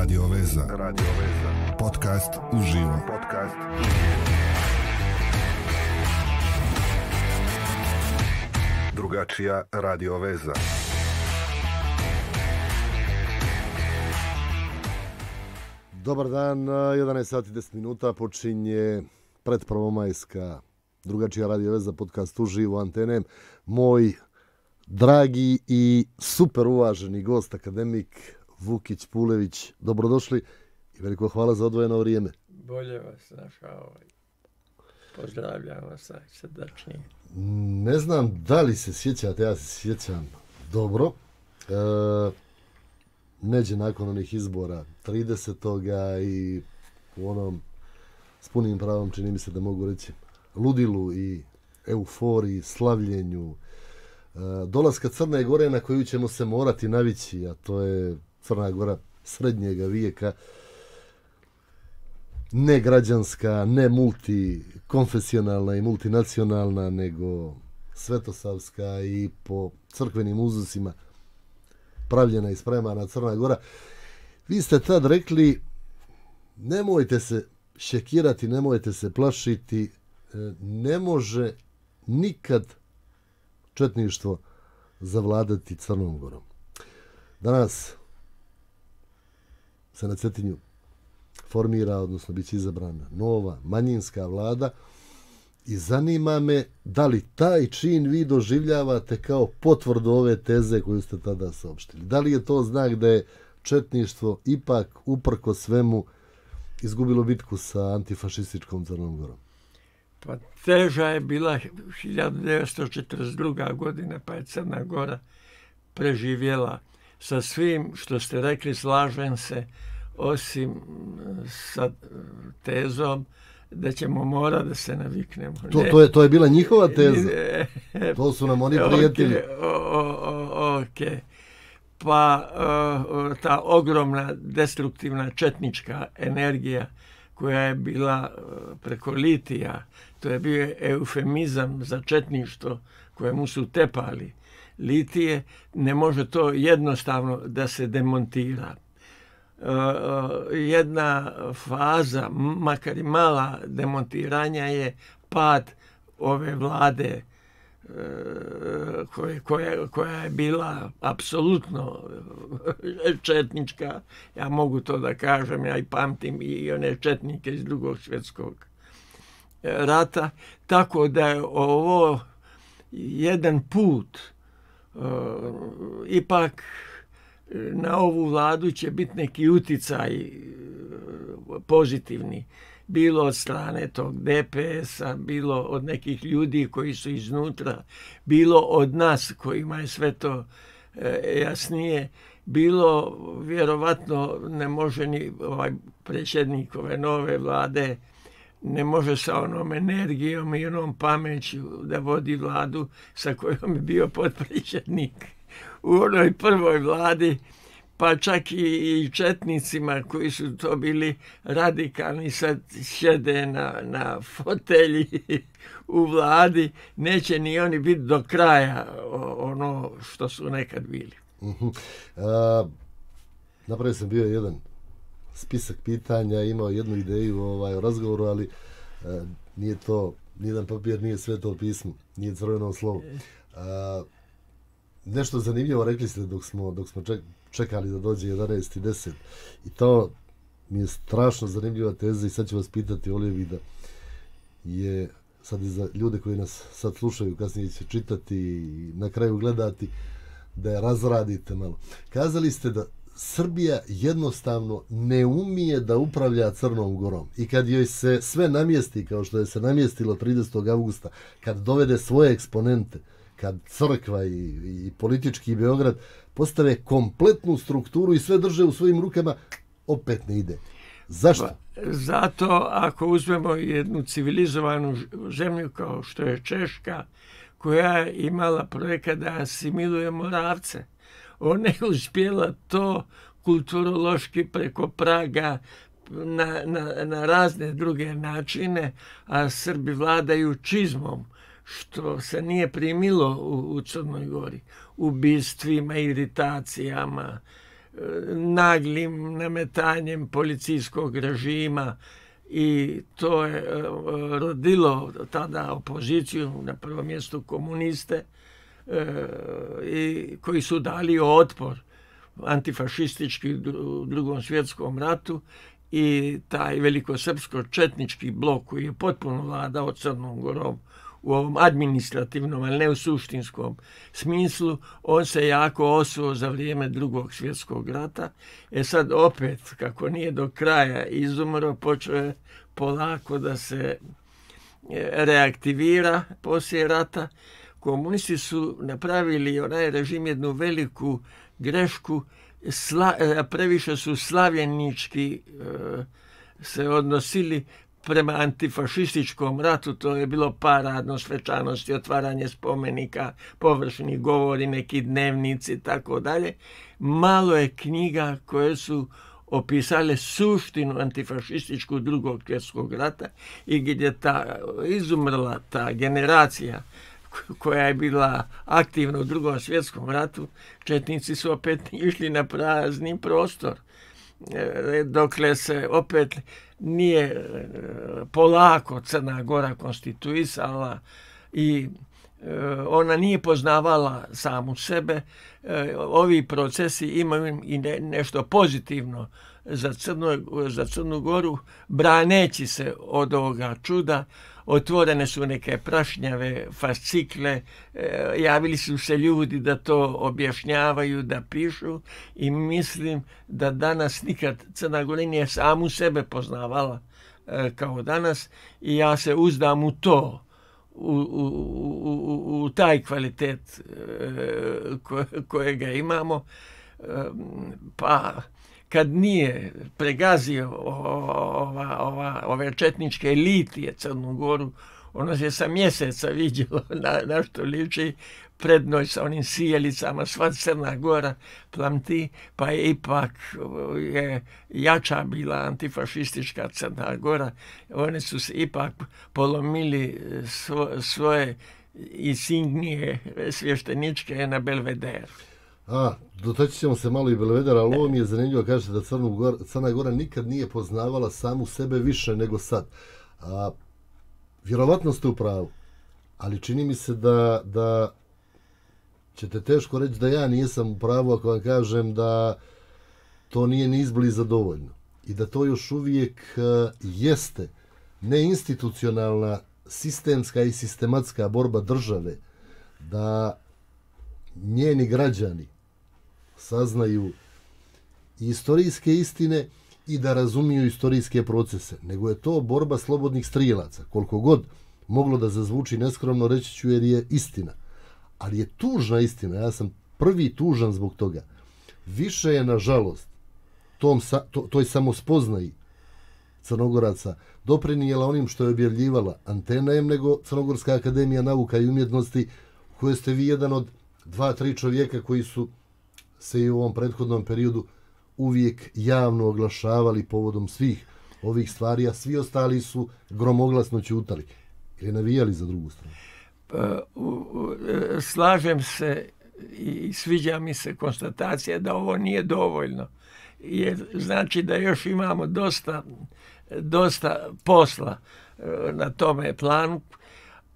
Radio Veza. Podcast uživo. Drugačija Radio Veza. Dobar dan, 11 sati 10 minuta počinje predprvomajska Drugačija Radio Veza, podcast uživo antene. Moj dragi i super uvaženi gost, akademik Vukić Pulević, dobrodošli i veliko hvala za odvojeno vrijeme. Bolje vas našao. Pozdravljam vas najsrdačnije. Ne znam da li se sjećate, ja se sjećam dobro. Neđe nakon onih izbora 30. i u onom s punim pravom, čini mi se da mogu reći, ludilu i euforiji, slavljenju, dolaska Crne Gore na koju ćemo se morati navići, a to je Crna Gora srednjega vijeka, ne građanska, ne multikonfesionalna i multinacionalna, nego svetosavska i po crkvenim uzusima pravljena i spremana Crna Gora. Vi ste tad rekli, nemojte se šekirati, nemojte se plašiti, ne može nikad četništvo zavladati Crnom Gorom. Danas se na Cetinju formira, odnosno bit će izabrana nova manjinska vlada i zanima me da li taj čin vi doživljavate kao potvrdu ove teze koju ste tada saopštili. Da li je to znak da je četništvo ipak uprko svemu izgubilo bitku sa antifašističkom Crnom Gorom? Pa teža je bila 1942. godina, pa je Crna Gora preživjela. Sa svim što ste rekli slažem se, osim sa tezom da ćemo morati da se naviknemo. To je bila njihova teza. To su nam oni prijetili. Ok. Pa ta ogromna destruktivna četnička energija koja je bila preko litija, to je bio eufemizam za četništvo kojemu su tepali litije, ne može to jednostavno da se demontira. Jedna faza, makar i mala demontiranja, je pad ove vlade koja je bila apsolutno četnička. Ja mogu to da kažem, ja i pamtim i one četnike iz Drugog svjetskog rata. Tako da je ovo jedan put. Ipak na ovu vladu će biti neki uticaj pozitivni. Bilo od strane tog DPS-a, bilo od nekih ljudi koji su iznutra, bilo od nas kojima je sve to jasnije, bilo vjerovatno ne može ni ovaj predsjednik ove nove vlade, ne može sa onom energijom i onom pameću da vodi vladu sa kojom je bio potpredsjednik u onoj prvoj vladi, pa čak i četnicima koji su to bili radikalni sad sjede na fotelji u vladi, neće ni oni biti do kraja ono što su nekad bili. Napravio sam bio jedan spisak pitanja, imao jednu ideju o razgovoru, ali nije to, nijedan papir nije sveto pismo, nije crveno slovo. Nešto zanimljivo rekli ste dok smo čekali da dođe 11:10 i to mi je strašno zanimljiva teza i sad ću vas pitati, volio bih da je sad i za ljude koji nas sad slušaju, kasnije će čitati i na kraju gledati, da je razradite malo. Kazali ste da Srbija jednostavno ne umije da upravlja Crnom Gorom i kad joj se sve namjesti kao što je se namjestilo 30. augusta, kad dovede svoje eksponente, kad crkva i politički Beograd postave kompletnu strukturu i sve drže u svojim rukama, opet ne ide. Zašto? Zato ako uzmemo jednu civilizovanu zemlju kao što je Češka, koja je imala projekat da asimiluje Moravce, ona je uspjela to kulturološki preko Praga na razne druge načine, a Srbi vladaju čizmom, što se nije primilo u Crnoj Gori, ubistvima, iritacijama, naglim nametanjem policijskog režima, i to je rodilo tada opoziciju, na prvom mjestu komuniste, i koji su dali otpor antifašistički u Drugom svjetskom ratu, i taj velikosrpsko-četnički blok koji je potpuno vladao Crnom Gorom u ovom administrativnom, ali ne u suštinskom smislu, on se jako osuo za vrijeme Drugog svjetskog rata. Sad opet, kako nije do kraja izumro, počeo je polako da se reaktivira poslije rata. Komunisti su napravili, onaj režim, jednu veliku grešku, previše su slavljenički se odnosili prema antifašističkom ratu. To je bilo paradno, svečanosti, otvaranje spomenika, površni govori, neki dnevnici, tako dalje. Malo je knjiga koje su opisale suštinu antifašističku Drugog svjetskog rata, i gdje je izumrla ta generacija koja je bila aktivna u Drugom svjetskom ratu, četnici su opet išli na prazni prostor, dokle se opet nije polako Crna Gora konstituisala i ona nije poznavala samu sebe. Ovi procesi imaju i nešto pozitivno za Crnu Goru, braneći se od ovoga čuda. Otvorene su neke prašnjave fascikle, javili su se ljudi da to objašnjavaju, da pišu, i mislim da danas nikad Crna Gora nije samu sebe poznavala kao danas, i ja se uzdam u to, u taj kvalitet kojega imamo, pa kad nije pregazio ove četničke elitije Crnu Goru, ono se sa mjeseca vidjelo na što liči, prednoj sa onim sijelicama, sva Crna Gora plamti, pa je ipak jača bila antifašistička Crna Gora. Oni su se ipak polomili svoje insignije svješteničke na Belvederu. Dotaći ćemo se malo i Belvedera, ali ovo mi je zanimljivo, kažete da Crna Gora nikad nije poznavala samu sebe više nego sad. Vjerovatno ste u pravu, ali čini mi se da ćete teško reći da ja nisam u pravu ako vam kažem da to nije ni izbliza dovoljno. I da to još uvijek jeste neinstitucionalna, sistemska i sistematska borba države, da njeni građani saznaju istorijske istine i da razumiju istorijske procese, nego je to borba slobodnih strijelaca. Koliko god moglo da zazvuči neskromno, reći ću, jer je istina. Ali je tužna istina, ja sam prvi tužan zbog toga. Više je, nažalost, toj samospoznaji Crnogoraca doprinijela onim što je objavljivala Antena M nego Crnogorska akademija nauka i umjetnosti, u kojoj ste vi jedan od 2-3 čovjeka koji su se i u ovom prethodnom periodu uvijek javno oglašavali povodom svih ovih stvari, a svi ostali su gromoglasno ćutali ili navijali za drugu stranu. Slažem se i sviđa mi se konstatacija da ovo nije dovoljno. Jer znači da još imamo dosta posla na tome planu.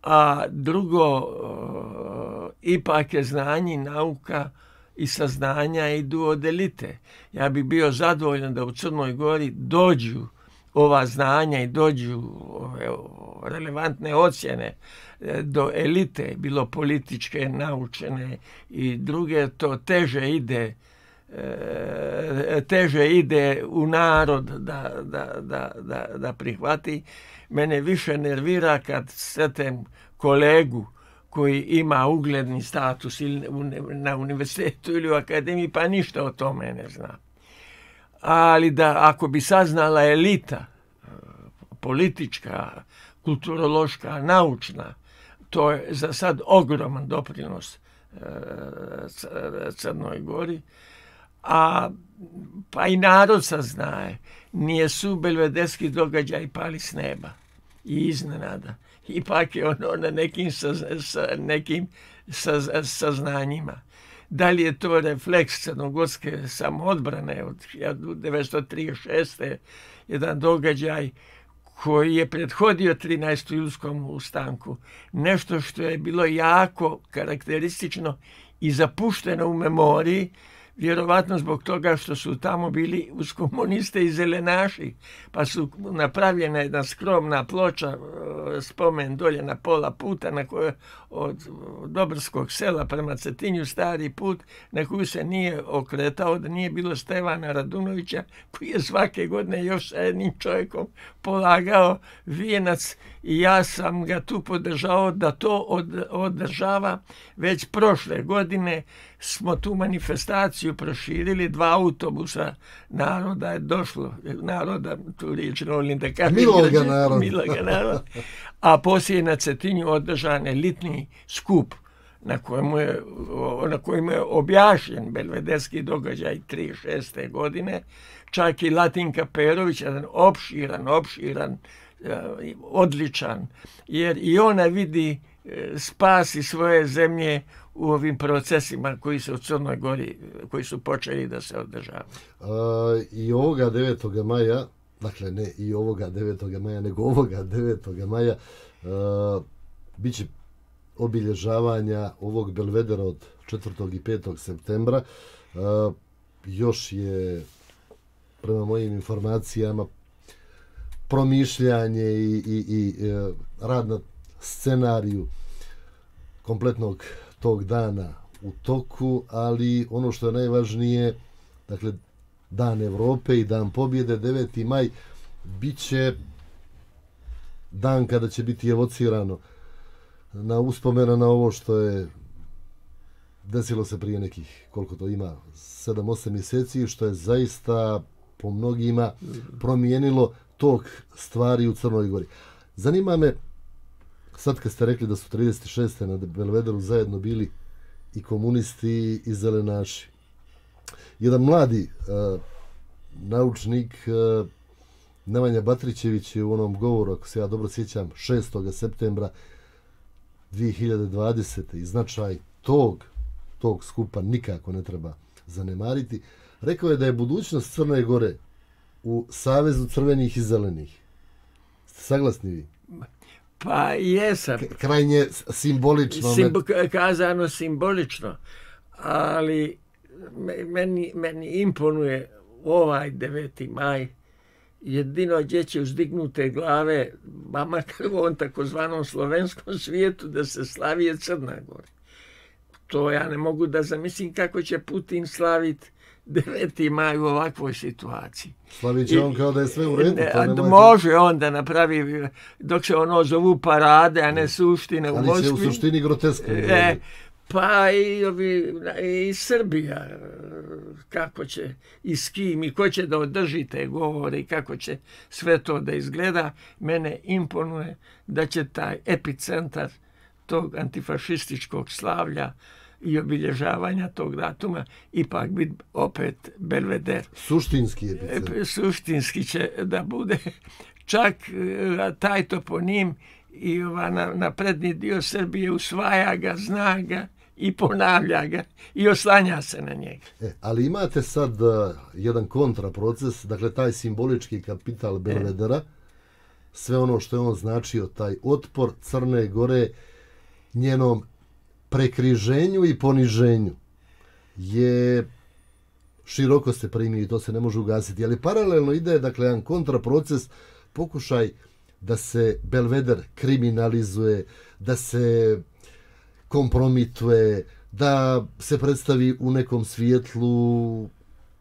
A drugo, ipak je znanje, nauka i saznanja idu od elite. Ja bih bio zadovoljan da u Crnoj Gori dođu ova znanja i dođu ove relevantne ocjene do elite, bilo političke, naučene i druge. To teže ide u narod da prihvati. Mene više nervira kad sretem kolegu koji ima ugledni status ili na univerzitetu ili u akademiji, pa ništa o tome ne zna. Ali da ako bi saznala elita, politička, kulturološka, naučna, to je za sad ogroman doprinos Crnoj Gori. Pa i narod saznaje, nijesu belvederski događaj pali s neba i iznenada. Ipak je ono na nekim saznanjima. Da li je to refleks crnogorske samoodbrane od 1936. jedan događaj koji je prethodio 13. julskom ustanku. Nešto što je bilo jako karakteristično i zapušteno u memoriji, vjerovatno zbog toga što su tamo bili uz komuniste i zelenaši, pa su napravljena jedna skromna ploča, spomen dolje na pola puta na kojoj od Dobrskog sela prema Cetinju stari put, na koju se nije okretao, da nije bilo Stevana Radunovića, koji je svake godine još sa jednim čovjekom polagao vijenac, i ja sam ga tu podržao da to održava. Već prošle godine smo tu manifestaciju proširili, 2 autobusa naroda je došlo, naroda, tu riječ volim da kažem, miloga naroda, a poslije na Cetinju održan elitni skup na kojemu je objašnjen belvederski događaj 36. godine. Čak i Latinka Perović, jedan opširan, odličan, jer i ona vidi spas i svoje zemlje u ovim procesima koji se u Crnoj Gori, koji su počeli da se održavaju. I ovoga 9. maja, dakle ne i ovoga 9. maja, nego ovoga 9. maja, bit će obilježavanja ovog belvedera od 4. i 5. septembra. Još je, prema mojim informacijama, promišljanje i rad na scenariju kompletnog tog dana u toku, ali ono što je najvažnije, dakle, Dan Evrope i Dan pobjede, 9. maj, bit će dan kada će biti evocirano na uspomena na ovo što je desilo se prije nekih, koliko to ima, 7-8 mjeseci, što je zaista po mnogima promijenilo tok stvari u Crnoj Gori. Zanima me, sad kad ste rekli da su 36. na belvederu zajedno bili i komunisti i zelenaši, jedan mladi naučnik, Nemanja Batrićević, je u onom govoru, ako se ja dobro sjećam, 6. septembra 2020. i značaj tog skupa nikako ne treba zanemariti. Rekao je da je budućnost Crne Gore u Savezu crvenih i zelenih. Ste saglasni vi? Pa jesam. Krajnje simbolično. Kazano simbolično, ali meni imponuje ovaj 9. maj, jedino gdje će uzdignute glave, ba makar u ovom takozvanom slovenskom svijetu, da se slavi je Crna Gora. To ja ne mogu da zamislim kako će Putin slaviti 9. maj u ovakvoj situaciji. Slavit će on kao da je sve u redu. Može on da napravi, dok se ono zovu parade, a ne suštine u Moskvi. Ali će u suštini groteskno. Pa i Srbija, kako će i s kim i ko će da održi te govore i kako će sve to da izgleda. Mene imponuje da će taj epicentar tog antifašističkog slavlja i obilježavanja tog datuma ipak biti opet belveder. Suštinski epicentar. Suštinski će da bude. Čak taj toponim i na prednji dio Srbije usvaja ga, zna ga i ponavlja ga i oslanja se na njega. Ali imate sad jedan kontraproces, dakle taj simbolički kapital belvedera, sve ono što je on značio, taj otpor Crne Gore njenom prekriženju i poniženju je široko se primio i to se ne može ugasiti. Ali paralelno ide, dakle, jedan kontraproces, pokušaj da se belveder kriminalizuje, da se kompromituje, da se predstavi u nekom svijetlu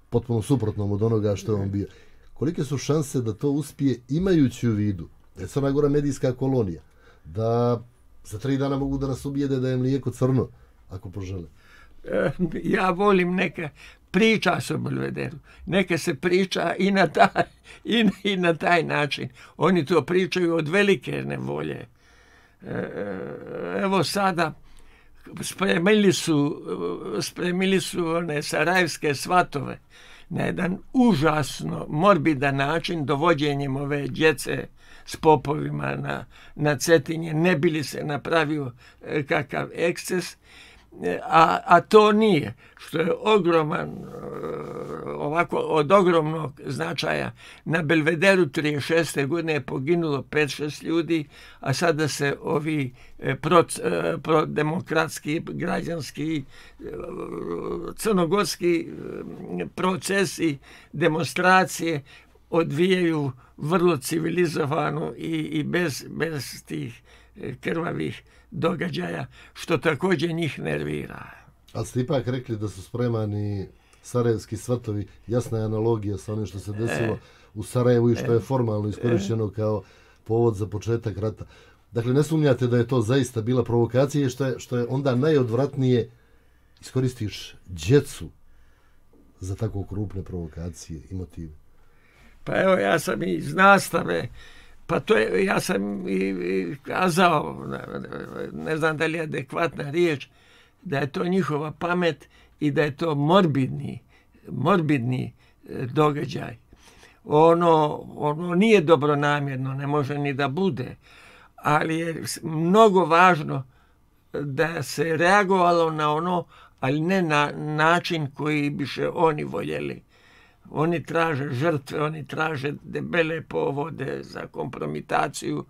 potpuno suprotnom od onoga što je on bio. Kolike su šanse da to uspije, imajući u vidu da je Crna Gora medijska kolonija, da za 3 dana mogu da nas ubijede da je mlijeko crno, ako požele? Ja volim neka priča se o belvederu. Neka se priča i na taj način. Oni to pričaju od velike nevolje. Evo sada spremili su one sarajevske svatove na jedan užasno morbidan način, dovođenjem ove djece s popovima na Cetinje, ne bi li se napravio kakav eksces. a to nije, što je ogroman, ovako od ogromnog značaja. Na Belvederu 36. godine je poginulo 5-6 ljudi, a sada se ovi prodemokratski, građanski, crnogorski procesi, demonstracije odvijaju vrlo civilizovano i bez tih krvavih događaja, što također njih nervira. Ali ste ipak rekli da su spremani sarajevski svrtovi, jasna je analogija sa onim što se desilo u Sarajevu i što je formalno iskorišteno kao povod za početak rata. Dakle, ne sumnjate da je to zaista bila provokacija i što je onda najodvratnije iskoristiš djecu za tako krupne provokacije i motive? Pa evo, ja sam iz nastave, pa to je, ja sam i kazao, ne znam da li je adekvatna riječ, da je to njihova pamet i da je to morbidni događaj. Ono nije dobronamjerno, ne može ni da bude, ali je mnogo važno da se reagovalo na ono, ali ne na način koji biše oni voljeli. Oni traže žrtve, oni traže debele povode za kompromitaciju,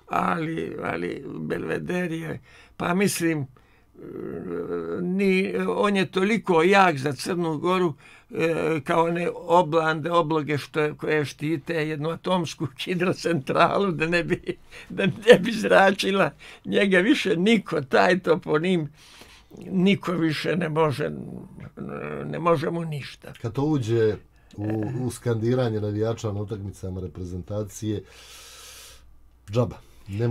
ali Belveder je, pa mislim, on je toliko jak za Crnu Goru kao one obloge koje štite jednu atomsku hidrocentralu da ne bi zračila. Njega više niko, taj toponim, niko više ne može mu ništa. Kad to uđe u skandiranje navijača na utakmicama reprezentacije, džaba. Ne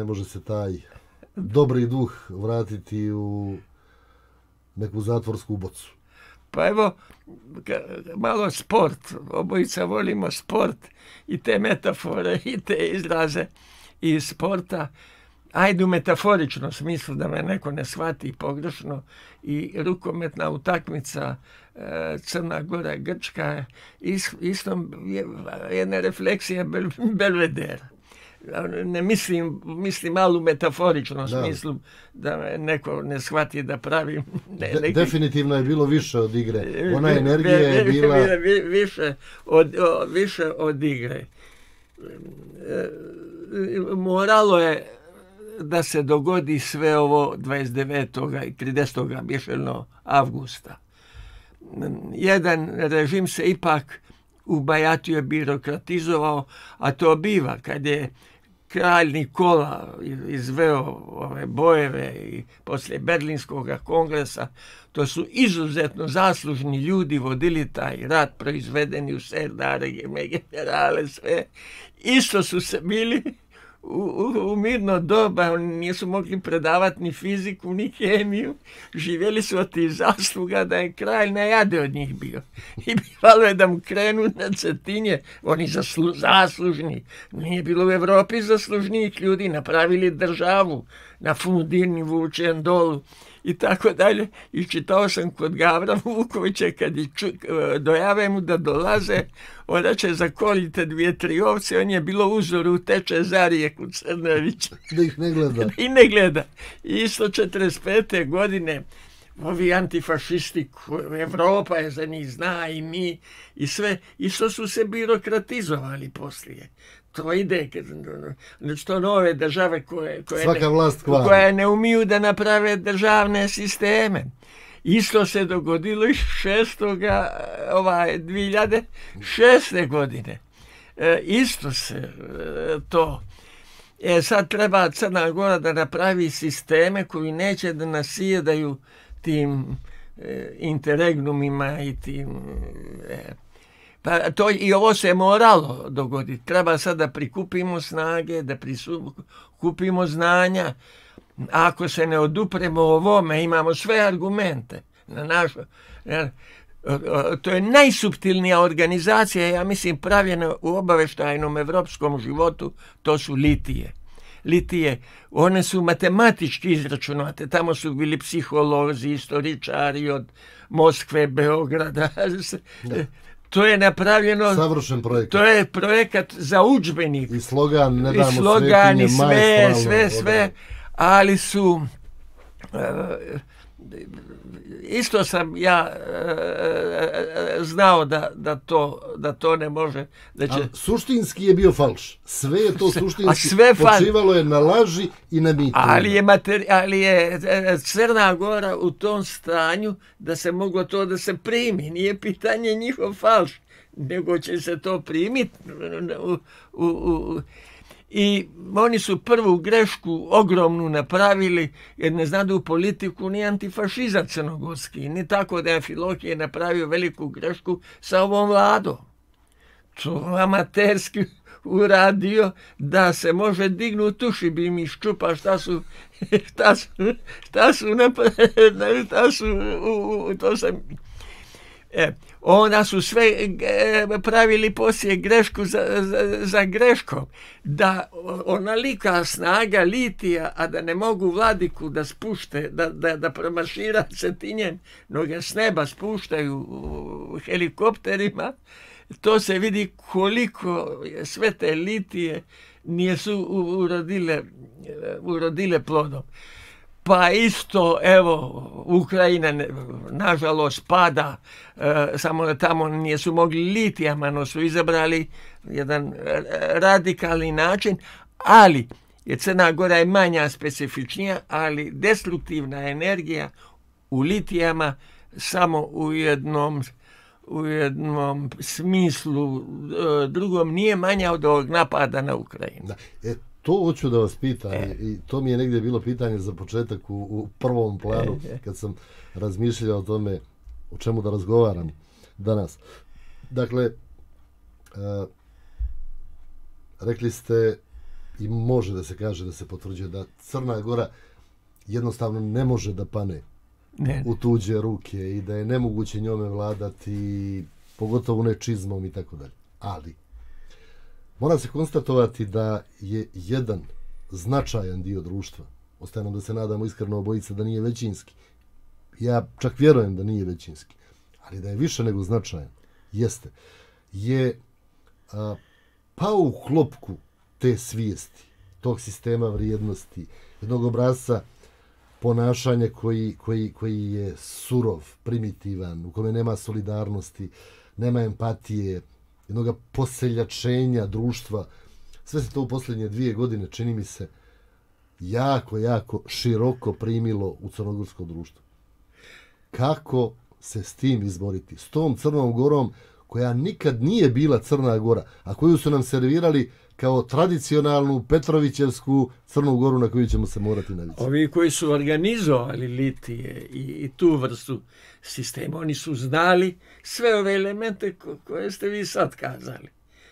može se taj dobri duh vratiti u neku zatvorsku bocu. Pa evo, malo sport. Obojica volimo sport i te metafore i te izraze iz sporta. Ajde u metaforičnom smislu da me neko ne shvati pogrešno, i rukometna utakmica Crna Gora Grčka isto jedna refleksija Belvedera. Ne mislim malo u metaforičnom smislu da me neko ne shvati da pravim definitivno je bilo više od igre. Ona energija je bila više od igre. Moralo je da se dogodi sve ovo 29. i 30. bješelno avgusta. Jedan režim se ipak ubajatio, birokratizovao, a to biva kad je kralj Nikola izveo ove bojeve i poslije Berlinskog kongresa. To su izuzetno zaslužni ljudi vodili taj rat, proizvedeni u serdare, generale, sve. Isto su se bili u mirno doba, oni nisu mogli predavati ni fiziku, ni kemiju, živjeli su od tih zasluga da je kralj najade od njih bio. I bivalo je da mu krenu na Cetinje, oni zaslužni. Nije bilo u Evropi zaslužnijih ljudi, napravili državu na Fundini, Vučen dolu i tako dalje. I čitao sam kod Gavra Vukovića, kad dojave mu da dolaze, onda će zakolite 2-3 ovce, on je bilo uzor u te Čezarije kod Crnovića. Da ih ne gleda. I ne gleda. I isto 45. godine ovi antifašisti, Evropa je za njih zna i mi i sve, isto su se birokratizovali poslije. To ide, što nove države koje ne umiju da naprave državne sisteme. Isto se dogodilo i 2006. godine. Isto se to. Sad treba Crna Gora da napravi sisteme koji neće da nasjedaju tim interregnumima i tim... Pa to, i ovo se moralo dogoditi. Treba sad da prikupimo snage, da prikupimo znanja. Ako se ne odupremo ovome, imamo sve argumente na našu. To je najsuptilnija organizacija, ja mislim, pravljena u obaveštajnom evropskom životu, to su litije. One su matematički izračunate, tamo su bili psiholozi, istoričari od Moskve, Beograda. To je napravljeno, savršen projekat. To je projekat za udžbenik. I slogan, ne damo svetinje, sve, ali su isto sam ja znao da to ne može. Da će... Ali suštinski je bio falš. Sve je to suštinski počivalo je na laži i na mitu. Ali je Crna Gora u tom stanju da se moglo to da se primi. Nije pitanje njihov falš, nego će se to primiti i oni su prvu grešku ogromnu napravili, jer ne znadu politiku ni antifašizam crnogorski, ni tako da je Amfilohije napravio veliku grešku sa ovom vladom. To amaterski uradio da se može dignuti uši, bi mi ščupa šta su to sam... Onda su sve pravili poslije grešku za greškom. Da onalika snaga litija, a da ne mogu vladiku da spušte, da promaršira Cetinjen, no ga s neba spuštaju helikopterima, to se vidi koliko sve te litije nisu urodile plodom. Pa isto, evo, Ukrajina, nažalost, pada, samo da tamo nisu mogli litijama, no su izabrali jedan radikalni način, ali Crna Gora je manja, specifičnija, ali destruktivna energija u litijama samo u jednom smislu, drugom nije manja od ovog napada na Ukrajinu. Da. To hoću da vas pitam i to mi je negdje bilo pitanje za početak u prvom planu kad sam razmišljao o tome o čemu da razgovaram danas. Dakle, rekli ste i može da se kaže, da se potvrđuje da Crna Gora jednostavno ne može da pane u tuđe ruke i da je nemoguće njome vladati, pogotovo nečizmom i tako dalje. Ali mora se konstatovati da je jedan značajan dio društva, ostaje nam da se nadamo iskreno obojica da nije većinski, ja čak vjerujem da nije većinski, ali da je više nego značajan, je pao u klopku te svijesti, tog sistema vrijednosti, jednog obrazca ponašanja koji je surov, primitivan, u kome nema solidarnosti, nema empatije, jednog poseljačenja društva. Sve se to u posljednje 2 godine, čini mi se, jako široko primilo u crnogorsko društvo. Kako se s tim izboriti? S tom Crnom Gorom koja nikad nije bila Crna Gora, a koju su nam servirali kao tradicionalnu Petrovićevsku Crnu Goru na koju ćemo se morati navići. Ovi koji su organizovali litije i tu vrstu sistema, oni su znali sve ove elemente koje ste vi sad kazali.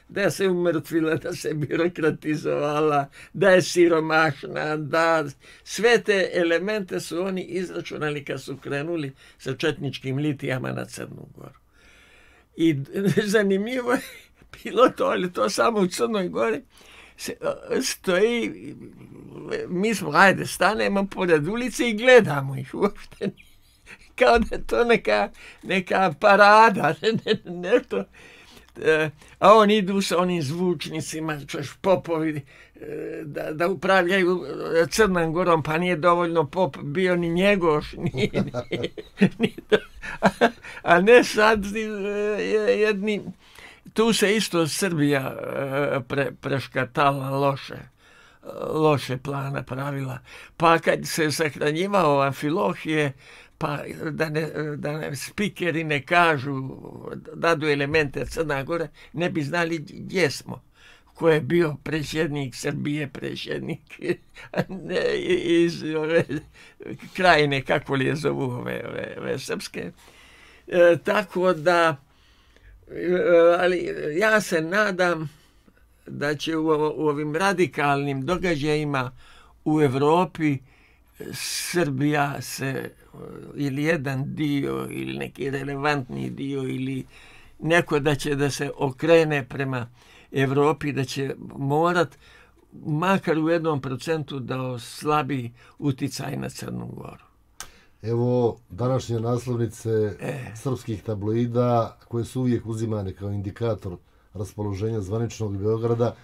Da se umrtvila, da se birokratizovala, da je siromašna, da sve te elemente su oni izračunali kad su krenuli sa četničkim litijama na Crnu Goru. I zanimljivo je bilo to, ali to samo u Crnoj Gori stoji, mi smo, stanemo pored ulice i gledamo ih uopšte. Kao da je to neka parada, nešto. A oni idu sa onim zvučnicima, popovi, da upravljaju Crnom Gorom, pa nije dovoljno pop bio ni Njegoš, ni to. A ne sad jedni, tu se isto Srbija preškatala loše plana pravila. Pa kad se sahranjivao Amfilohije, pa da ne spikeri ne kažu, dadu elemente Crna Gora, ne bi znali gdje smo. Ko je bio predsjednik Srbije, predsjednik iz ove krajine, kako li je zovu ove srpske. Tako da, ali ja se nadam da će u ovim radikalnim događajima u Evropi Srbija se, ili jedan dio, ili neki relevantni dio, ili neko da će da se okrene prema Evropi, da će morat makar u 1% da oslabi uticaj na Crnu Goru. Evo današnje naslovnice srpskih tabloida, koje su uvijek uzimane kao indikator raspoloženja zvaničnog Beograda,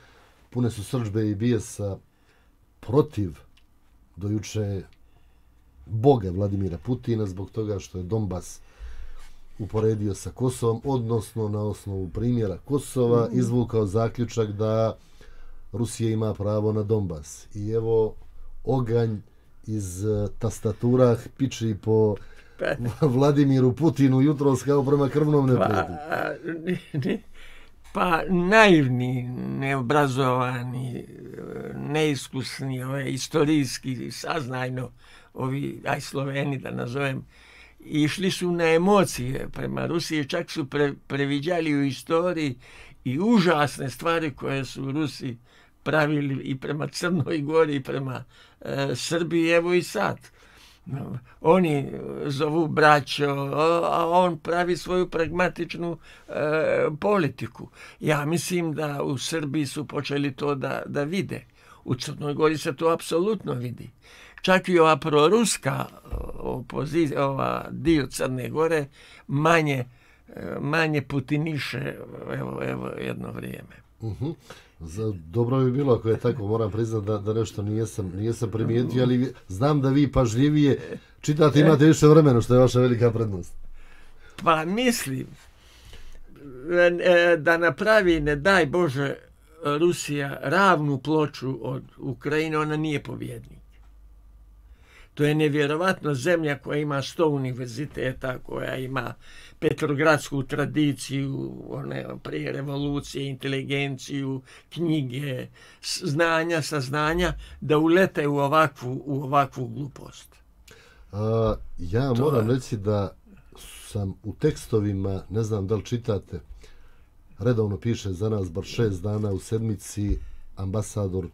pune su srdžbe i bijesa protiv dojuče boga Vladimira Putina zbog toga što je Donbas uporedio sa Kosovom, odnosno na osnovu primjera Kosova izvukao zaključak da Rusija ima pravo na Donbas. I evo oganj iz tastatura piči po Vladimiru Putinu jutros kao prema krvnom neprijatelju. Pa naivni, neobrazovani, neiskusni, istorijski, saznajno, ovi, Sloveni da nazovem, išli su na emocije prema Rusiji, čak su previđali u istoriji i užasne stvari koje su Rusi pravili i prema Crnoj Gori i prema Srbiji, evo i sad. Oni zovu braćo, a on pravi svoju pragmatičnu politiku. Ja mislim da u Srbiji su počeli to da vide. U Crnoj Gori se to apsolutno vidi. Čak i ova proruska opozicija, ova dio Crne Gore, manje putiniše evo jedno vrijeme. Dobro bi bilo ako je tako, moram priznati da nešto nijesam primijetio, ali znam da vi pažljivije čitate, imate više vremena, što je vaša velika prednost. Pa mislim da napravi, ne daj Bože, Rusija ravnu ploču od Ukrajine, ona nije pobjednik. To je nevjerovatno zemlja koja ima 100 univerziteta, koja ima petrogradsku tradiciju, prije revolucije, inteligenciju, knjige, znanja, saznanja, da ulete u ovakvu glupost. Ja moram reći da sam u tekstovima, ne znam da li čitate, redovno piše za nas bar 6 dana u sedmici ambasador,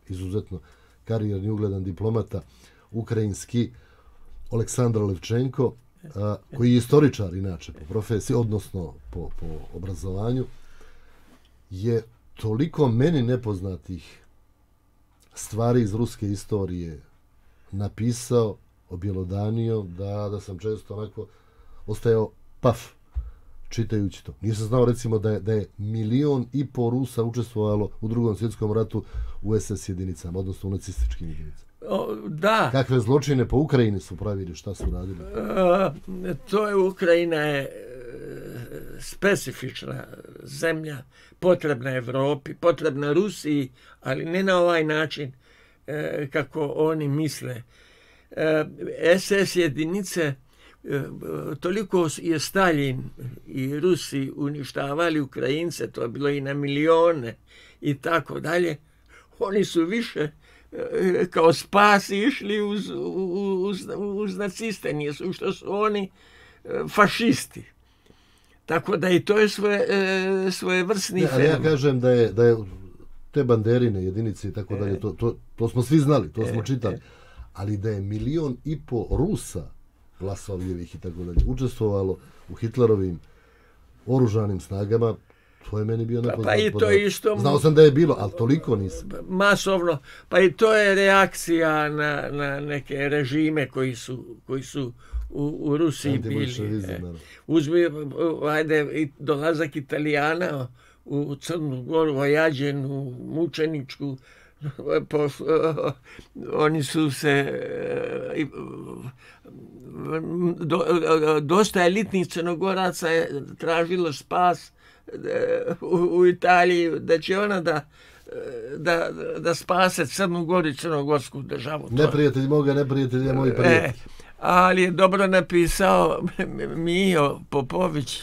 izuzetno karijerni ugledan diplomata, ukrajinski, Aleksandar Levčenko, koji je istoričar inače po profesiji, odnosno po obrazovanju, je toliko meni nepoznatih stvari iz ruske istorije napisao, objelodanio, da sam često onako ostajao paf čitajući to. Nisam znao recimo da je 1,5 miliona Rusa učestvovalo u Drugom svjetskom ratu u SS jedinicama, odnosno u nacističkim jedinicama. Da. Kakve zločine po Ukrajini su pravili, šta su radili? To je, Ukrajina je specifična zemlja, potrebna Evropi, potrebna Rusiji, ali ne na ovaj način kako oni misle. SS jedinice, toliko je Stalin i Rusi uništavali Ukrajince, to je bilo i na milione i tako dalje. Oni su više kao spas išli uz naciste, nisu što su oni fašisti. Tako da i to je svojevrsni fenomen. Ja kažem da je te banderine jedinice i tako dalje, to smo svi znali, to smo čitali, ali da je 1,5 miliona Rusa, Vlasovljevih i tako dalje, učestvovalo u Hitlerovim oružanim snagama, to je meni bio nepoznat podatak. Znao sam da je bilo, ali toliko nisam. Masovno. Pa i to je reakcija na neke režime koji su u Rusiji bili. Uzmi, dolazak Italijana u Crnu Goru, Ojađenu, Mučeničku, oni su se dosta elitnih Crnogoraca je tražilo spas u Italiji, da će ona da spase Crnu Goru i crnogorsku državu. Neprijatelj moga, neprijatelj je moj prijatelj. Ali je dobro napisao Mijo Popović,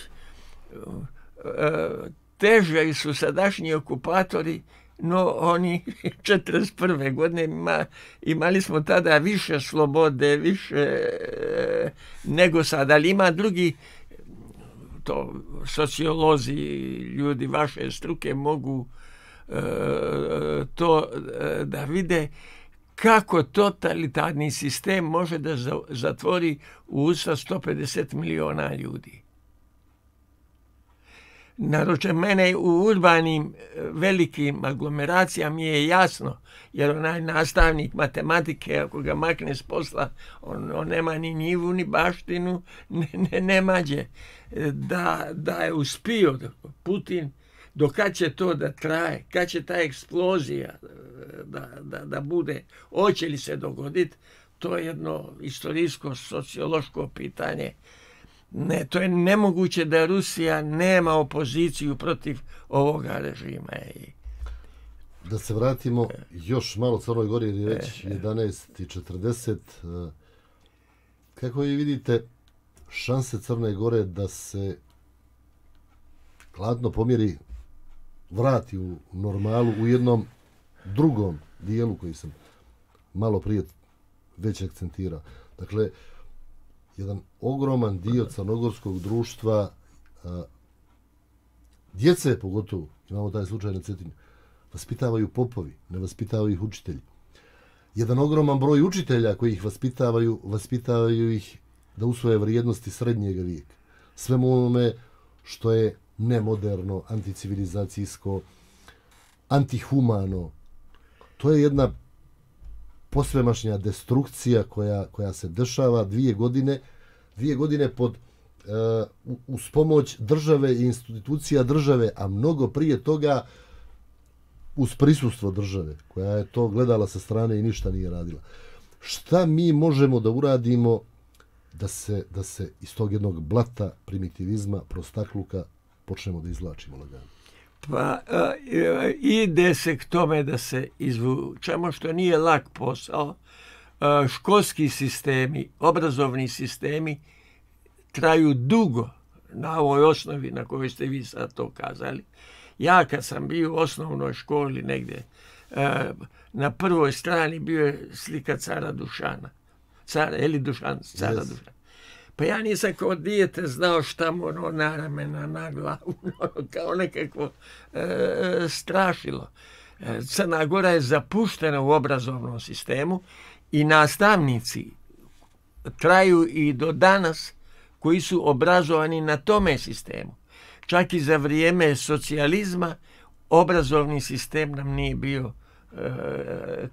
teže su sadašnji okupatori, no oni 41. godine imali smo tada više slobode, više nego sad, ali ima drugi, to sociolozi, ljudi vaše struke mogu to da vide, kako totalitarni sistem može da zatvori u usta 150 miliona ljudi. Naroče mene u urbanim velikim aglomeracijama je jasno, jer onaj nastavnik matematike, ako ga makne s posla, on nema ni njivu, ni baštinu, ne mađe. Da je uspio Putin, do kad će to da traje, kad će ta eksplozija da bude, hoće li se dogoditi, to je jedno istorijsko, sociološko pitanje. Ne, to je nemoguće da Rusija nema opoziciju protiv ovoga režima. Da se vratimo još malo Crnoj Gori, jer je već 11:40. Kako vi vidite šanse Crne Gore da se hladno pomjeri, vrati u normalu u jednom drugom dijelu koji sam malo prije već akcentirao? Dakle, jedan ogroman dio crnogorskog društva, djece pogotovo, imamo taj slučaj na Cetinju, vaspitavaju popovi, ne vaspitavaju ih učitelji. Jedan ogroman broj učitelja koji ih vaspitavaju ih da usvoje vrijednosti srednjeg vijeka. Svemu onome što je nemoderno, anticivilizacijsko, antihumano. To je jedna posvemašnja destrukcija koja se dešava 2 godine pod uz pomoć države i institucija države, a mnogo prije toga uz prisustvo države, koja je to gledala sa strane i ništa nije radila. Šta mi možemo da uradimo da se iz tog jednog blata primitivizma, prostakluka počnemo da izvlačimo lagano? Pa ide se k tome da se izvučemo, što nije lak posao. Školski sistemi, obrazovni sistemi traju dugo na ovoj osnovi na kojoj ste vi sad to kazali. Ja kad sam bio u osnovnoj školi negdje, na prvoj strani bio je slika cara Dušana. Cara Dušana. Pa ja nisam kao dijete znao šta mu na ramena, na glavu, kao nekako strašilo. Crna Gora je zapuštena u obrazovnom sistemu i nastavnici traju i do danas koji su obrazovani na tome sistemu. Čak i za vrijeme socijalizma obrazovni sistem nam nije bio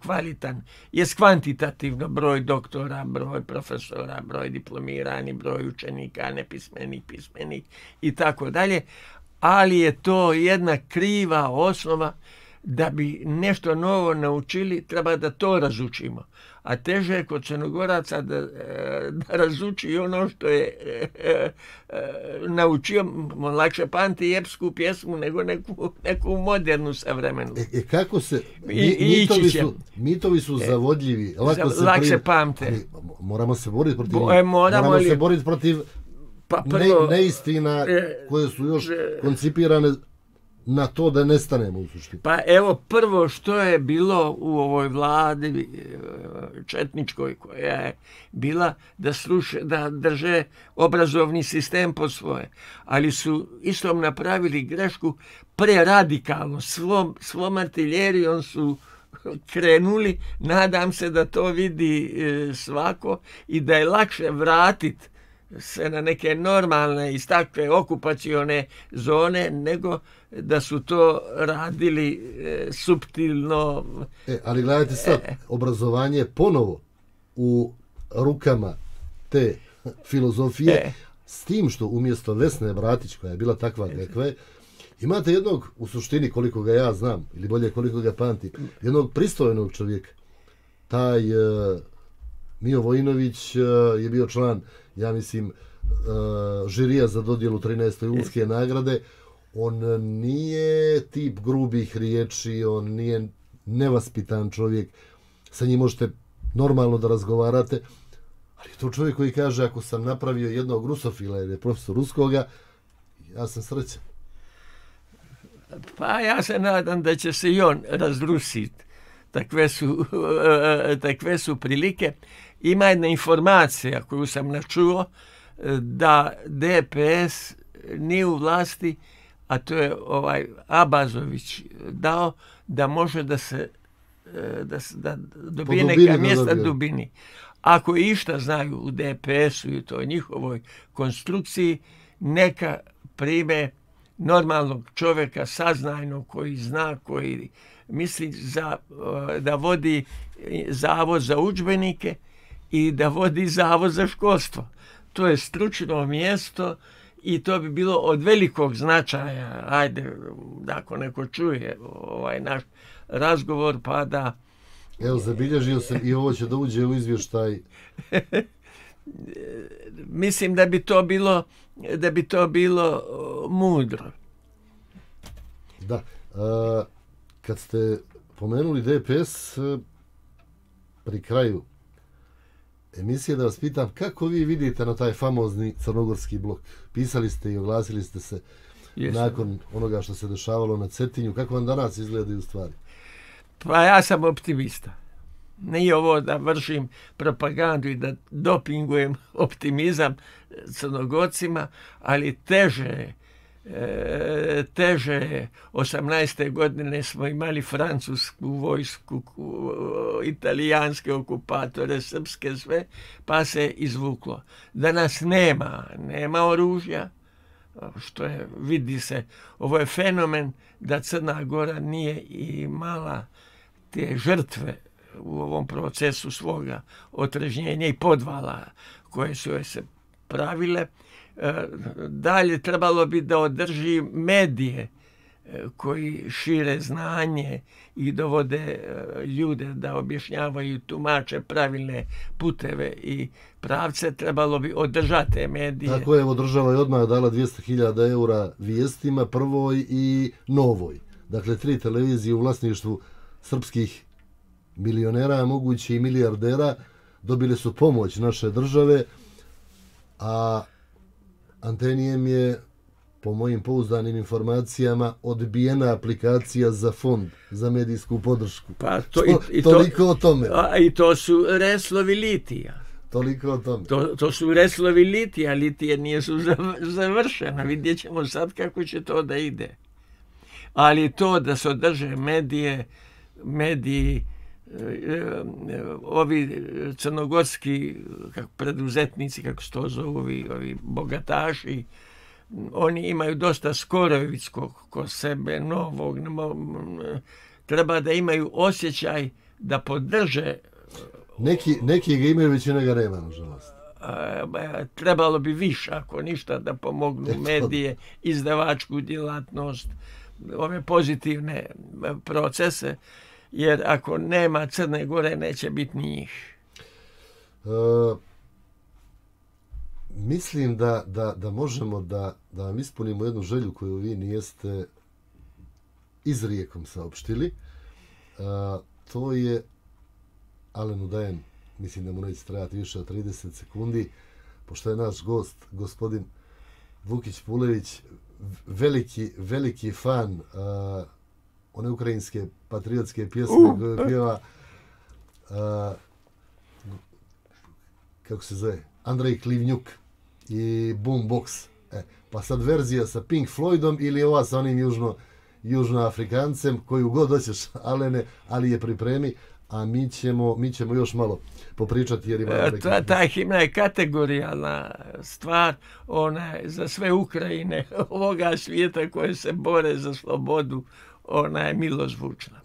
kvalitan. Jest kvantitativno broj doktora, broj profesora, broj diplomirani, broj učenika, nepismenih, pismenih i tako dalje, ali je to jedna kriva osnova. Da bi nešto novo naučili, treba da to razučimo. A teže je kod Crnogoraca da razuči ono što je naučio. Lakše pamti epsku pjesmu nego neku modernu savremenu. Kako se... Mitovi su zavodljivi. Lakše pamte. Moramo se boriti protiv njih. Moramo se boriti protiv neistina koje su još koncipirane na to da nestanemo u suštini. Pa evo, prvo što je bilo u ovoj vladi četničkoj koja je bila da drže obrazovni sistem po svoje. Ali su istom napravili grešku preradikalno. Svom artiljerijom su krenuli. Nadam se da to vidi svako i da je lakše vratiti se na neke normalne iz takve okupacione zone, nego da su to radili suptilno. Ali gledajte sad, obrazovanje ponovo u rukama te filozofije, s tim što umjesto Vesne Bratić, koja je bila takva kakva je, imate jednog, u suštini koliko ga ja znam, ili bolje koliko ga pamtim, jednog pristojnog čovjeka. Taj Mio Vojinović je bio član, ja mislim, žirija za dodjelu 13. Ulske nagrade. On nije tip grubih riječi, on nije nevaspitan čovjek, sa njim možete normalno da razgovarate, ali je to čovjek koji kaže, ako sam napravio jednog rusofila ili profesor ruskoga, ja sam srećan. Pa ja se nadam da će se i on razrusiti. Takve su prilike. Ima jedna informacija koju sam načuo da DPS nije u vlasti, a to je Abazović dao, da može da dobije neka mjesta Dubini. Ako išta znaju u DPS-u i toj njihovoj konstrukciji, neka prime normalnog čovjeka, saznajnog, koji zna, koji misli da vodi zavod za udžbenike i da vodi zavod za školstvo. To je stručno mjesto i to bi bilo od velikog značaja. Ajde, ako neko čuje ovaj naš razgovor, pa Evo, zabilježio sam i ovo će da uđe u izvještaj. Mislim da bi to bilo mudro. Da. Kad ste pomenuli DPS pri kraju emisije, da vas pitam kako vi vidite na taj famozni crnogorski blok. Pisali ste i oglasili ste se nakon onoga što se dešavalo na Cetinju. Kako vam danas izgledaju stvari? Pa ja sam optimista. Nije ovo da vršim propagandu i da dopingujem optimizam Crnogorcima, ali teže 18. godine smo imali francusku vojsku, italijanske okupatore, srpske sve, pa se izvuklo. Danas nema oružja, što je, vidi se, ovo je fenomen da Crna Gora nije imala te žrtve u ovom procesu svoga otrežnjenja i podvala koje su joj se pravile. Dalje trebalo bi da održi medije koji šire znanje i dovode ljude da objašnjavaju, tumače pravilne puteve i pravce. Trebalo bi održati te medije. Tako je, evo, država je odmah dala 200.000 eura Vijestima, Prvoj i Novoj. Dakle, 3 televizije u vlasništvu srpskih milionera, a mogući i milijardera, dobili su pomoć naše države, a Antenijem je, po mojim pouzdanim informacijama, odbijena aplikacija za fond za medijsku podršku. Pa toliko o tome. I to su reslovi litija. Toliko o tome. To su reslovi litija, litije nije su završena. Vidjet ćemo sad kako će to da ide. Ali to da se održe mediji, ovi crnogorski preduzetnici, kako se to zovu, ovi bogataši, oni imaju dosta Skorojevićkog ko sebe, novog. Treba da imaju osjećaj da podrže. Neki ga imaju, većina ga nema, nažalost. Trebalo bi više, ako ništa, da pomognu medije, izdavačku djelatnost, ove pozitivne procese, jer ako nema Crne Gore, neće biti ni njih. Mislim da možemo da vam ispunimo jednu želju koju vi nijeste izrijekom saopštili. To je, Alenu dajem, mislim da mu neće trajati više od 30 sekundi, pošto je naš gost, gospodin Vukić Pulević, veliki fan one ukrajinske patriotske pjesme koje pjeva kako se zove, Andrej Klivnjuk i Boombox. Pa sad verzija sa Pink Floydom ili ova sa onim južnoafrikancem, koju god hoćeš, Alene, ali je pripremi, a mi ćemo još malo popričati. Jer ta himna je kategorijalna stvar, ona je za sve Ukrajine ovoga svijeta koje se bore za slobodu, ona je milozvučna.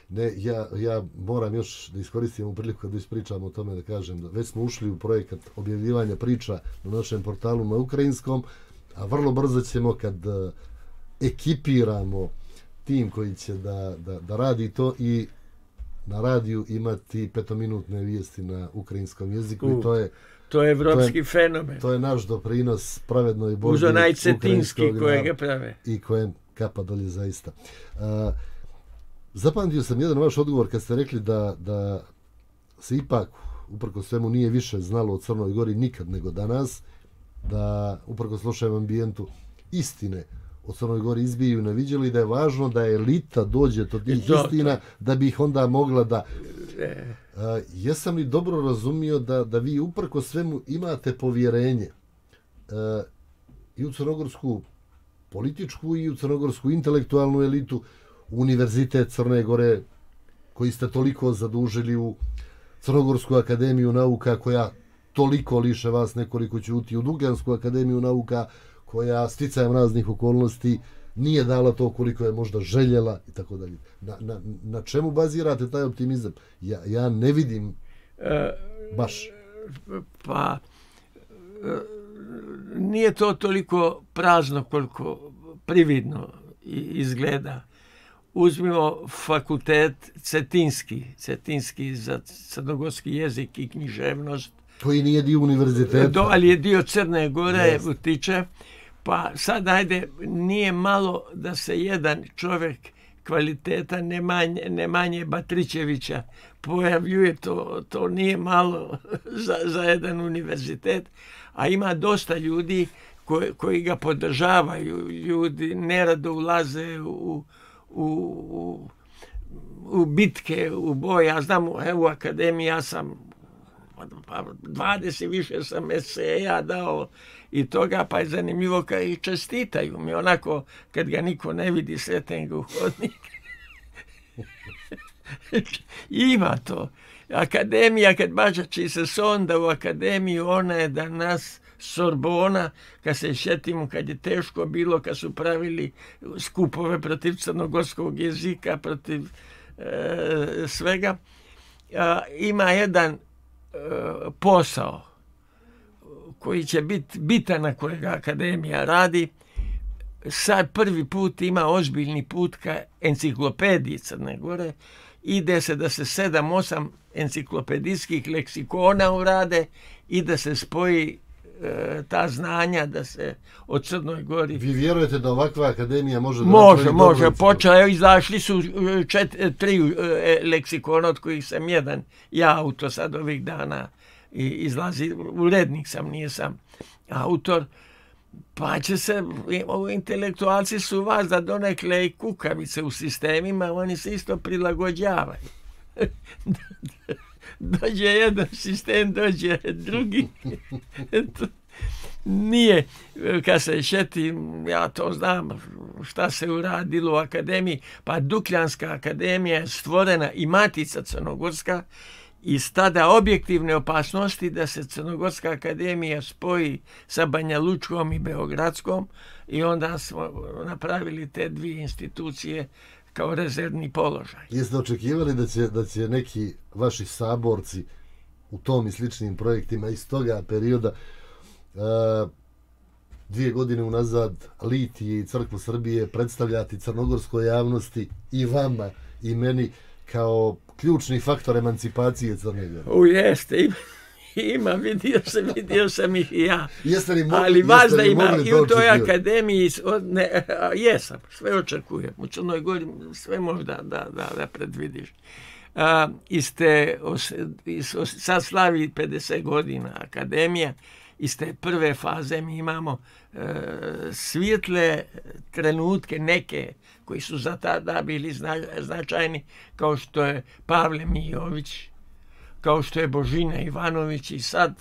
Ne, ja moram još da iskoristim ovu priliku kad ispričamo o tome, da kažem da već smo ušli u projekat objavljivanja priča na našem portalu na ukrajinskom, a vrlo brzo ćemo, kad ekipiramo tim koji će da radi to, i na radiju imati 5-minutne vijesti na ukrajinskom jeziku. I to je evropski fenomen. To je naš doprinos pravednoj borbi. Uz onaj cetinski kojega prave. I kojem kapa dolje zaista. Zapamtio sam jedan vaš odgovor kad ste rekli da se ipak, uprkos svemu, nije više znalo o Crnoj Gori nikad nego danas, da uprkos lošem ambijentu istine o Crnoj Gori izbiju na viđelu i da je važno da elita dođe do tih istina da bi ih onda mogla da... Jesam li dobro razumio da vi uprkos svemu imate povjerenje i u crnogorsku političku i u crnogorsku intelektualnu elitu, Univerzitet Crne Gore, koji ste toliko zadužili, u Crnogorsku akademiju nauka, koja toliko liše vas nekoliko ćuti, u Dugansku akademiju nauka, koja sticajem raznih okolnosti nije dala to koliko je možda željela i tako dalje. Na čemu bazirate taj optimizam? Ja ne vidim baš. Pa nije to toliko prazno koliko prividno izgleda. uzmimo fakultet Cetinski za crnogorski jezik i književnost. Koji nije dio univerziteta. Ali je dio Crne Gore utiče. Pa sad, ajde, nije malo da se jedan čovjek kvaliteta Nemanje Batrićevića pojavljuje, to nije malo za jedan univerzitet, a ima dosta ljudi koji ga podržavaju. Ljudi nerado ulaze u bitke, u boj. Ja znam, u akademiji ja sam 20 više sam eseja dao i toga, pa je zanimljivo kad i čestitaju mi, onako kad ga niko ne vidi, sretem ga u hodnik. Ima to. Akademija, kad bačači se sonda u akademiju, ona je danas Sorbona, kad se šetimo, kad je teško bilo, kad su pravili skupove protiv crnogorskog jezika, protiv svega. Ima jedan posao koji će biti bitan na kojega akademija radi. Sad prvi put ima ozbiljni put ka enciklopediji Crne Gore. Ide se da se 7-8 enciklopedijskih leksikona urade i da se spoji ta znanja, da se od Crnoj Gori... Vi vjerujete da ovakva akademija može... Može. Počeo, izašli su 3 leksikona, od kojih sam jedan ja autor sad ovih dana izlazi. Urednik sam, nisam autor. Pa će se, intelektualci su vas da donekle i kukavice u sistemima, oni se isto prilagođavaju. Dođe jedan sistem, dođe drugi. Nije, kad se šetim, ja to znam šta se uradilo u akademiji, pa Dukljanska akademija je stvorena i Matica crnogorska, iz tada objektivne opasnosti da se Crnogorska akademija spoji sa Banja Lučkom i Beogradskom, i onda smo napravili te dvije institucije kao rezervni položaj. Jeste očekivali da će neki vaši saborci u tom i sličnim projektima iz toga perioda 2 godine unazad Litije i Crkvu Srbije predstavljati crnogorskoj javnosti i vama i meni kao ključni faktor emancipacije Crne Gore? Jeste, ima, vidio sam ih i ja. Ali vas da ima i u toj akademiji, jesam, sve očekujem. U Crnoj Gori sve možda da predvidiš. Sad slavi 50 godina akademija, iz te prve faze mi imamo svijetle trenutke, neke koji su za tada bili značajni, kao što je Pavle Mijović, kao što je Božina Ivanović, i sad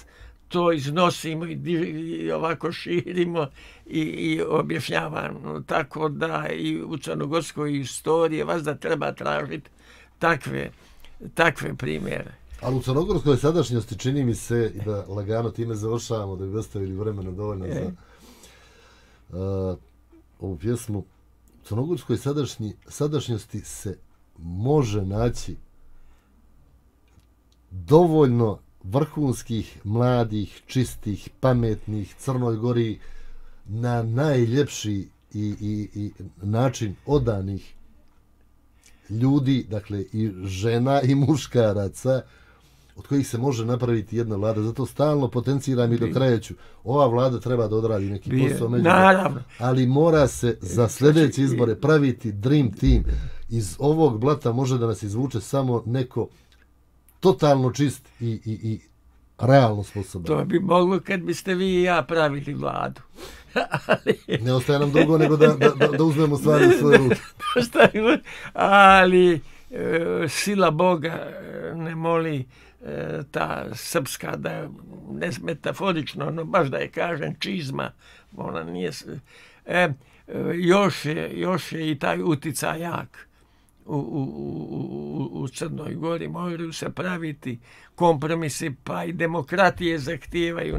to iznosimo i ovako širimo i objašnjavamo. Tako da i u crnogorskoj istoriji vas da treba tražiti takve primjere. Ali u crnogorskoj sadašnjosti čini mi se, i da lagano time završavamo, da bi ostavili vremena dovoljno za ovu pjesmu, u crnogorskoj sadašnjosti se može naći dovoljno vrhunskih, mladih, čistih, pametnih, Crnoj Gori na najljepši i način odanih ljudi, dakle i žena i muškaraca, od kojih se može napraviti jedna vlada. Zato stalno potenciram i do kraja ću. Ova vlada treba da odradi neki posao međutim, ali mora se za sljedeće izbore praviti dream team. Iz ovog blata može da nas izvuče samo neko totalno čist i realno sposoban. To bi moglo kad biste vi i ja pravili vladu. Ne ostaje nam drugo nego da uzmemo stvari u svoje ruke. Ali sila Boga ne moli ta srpska, da ne metaforično, no baš da je kažem čizma, ona nije... Još je i taj uticaj jak u Crnoj Gori. Moraju se praviti kompromisi, pa i demokratije zahtijevaju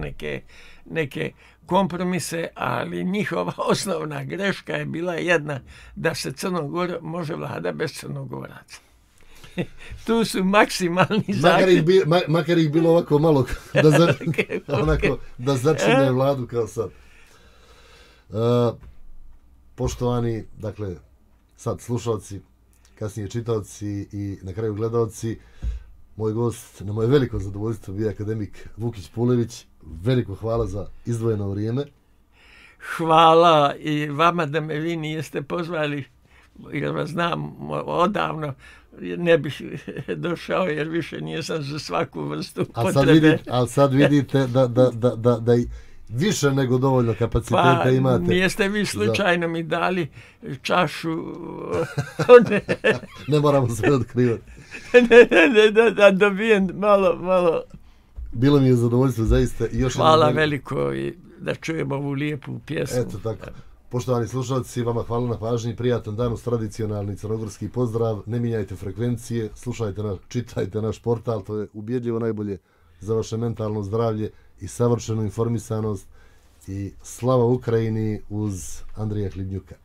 neke kompromise, ali njihova osnovna greška je bila jedna, da se Crnogora može vlada bez Crnogoraca. Tu su maksimalni zahtjevi. Makar ih bilo ovako malo da začine vladu kao sad. Poštovani, dakle, sad slušalci, kasnije čitaoci i na kraju gledaoci. Moj gost, na moje veliko zadovoljstvo, bio je akademik Vukić Pulević. Veliko hvala za izdvojeno vrijeme. Hvala i vama da me vi nijeste pozvali, jer vas znam odavno, ne bih došao jer više nisam za svaku vrstu potrebe. Ali sad vidite da i više nego dovoljno kapaciteta imate. Pa nijeste vi slučajno mi dali čašu. Ne moramo sve otkrivati. Da dobijem malo. Bilo mi je zadovoljstvo zaista. Hvala veliko i da čujemo ovu lijepu pjesmu. Eto tako. Poštovani slušalci, vama hvala na pažnji, prijatan dan uz tradicionalni crnogorski pozdrav, ne mijenjajte frekvencije, slušajte nas, čitajte naš portal, to je ubjedljivo najbolje za vaše mentalno zdravlje i savršenu informisanost i slava Ukrajini uz Andrija Hlibnjuka.